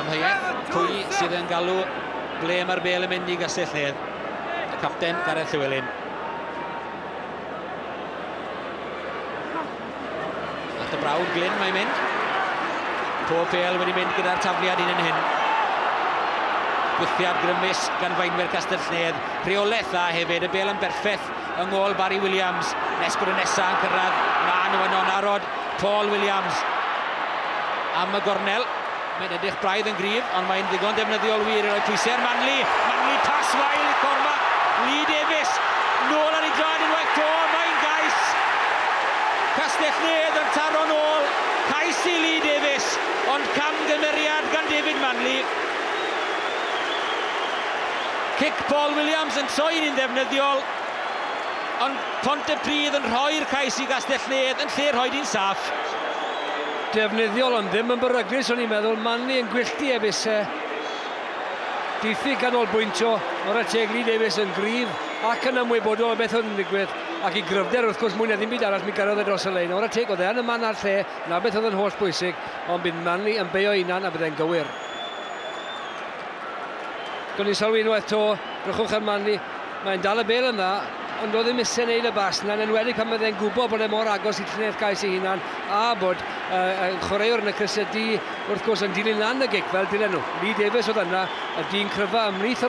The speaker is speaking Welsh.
amheuaeth pwy sydd yn galw ble mae'r bêl yn mynd i Gastell-nedd. Y capten Gareth Llywelyn. At y brawd Glyn mae'n mynd. Pob bêl wedi mynd gyda'r tafliad un yn hyn. Gwthiad grymus gan faenwyr Castell-nedd. Rheolaeth dda hefyd, y bêl yn berffaith yng ngôl Barry Williams. Nes bod y nesaf yn cyrraedd, ma nhw yno'n arod. Paul Williams am y gornel. Mae'n edrych braidd yn gryf, ond mae'n ddigon defnyddiol wir i roi pwysau ar Manley. Manley pas wael i Cormac. Lee Davies nôl ar ei draed unwaith to, mae'n gais. Castell-nedd yn taro nôl. Cais i Lee Davies, ond camgymeriad gan David Manley. Cic Paul Williams yn troi'n un ddefnyddiol, ond Pontypridd yn rhoi'r cais i Gastell-nedd yn lle rhoi di'n saff. Defnyddiol ond ddim yn beryglus, o'n i'n meddwl. Manley yn gwylltu efusau. Diffyg ganolbwyntio, o'r teg Lee Davies yn gryf ac yn ymwybodol o beth oedd yn digwydd, ac i gryfder wrth gwrs mwy na ddim byd arall mi gyrraedd e dros y lein. O'r teg oedd e yn y man a'r lle, na beth oedd yn holl bwysig, ond bydd Manley yn beio hunan a bydd e'n gywir. Gwni sylwi unwaith to, drychwch ar Manley, mae'n dal y bêl yn dda, ond oedd ddim eisiau gwneud y bas yna, yn enwedig pan bydd e'n gwybod bod e mor agos i llinell gais ei hunan, a bod chwaraewr yn y crysau du wrth gwrs yn dilyn lan y gic fel dylen nhw. Lee Davies oedd yna, y dyn cryfa ymhlith.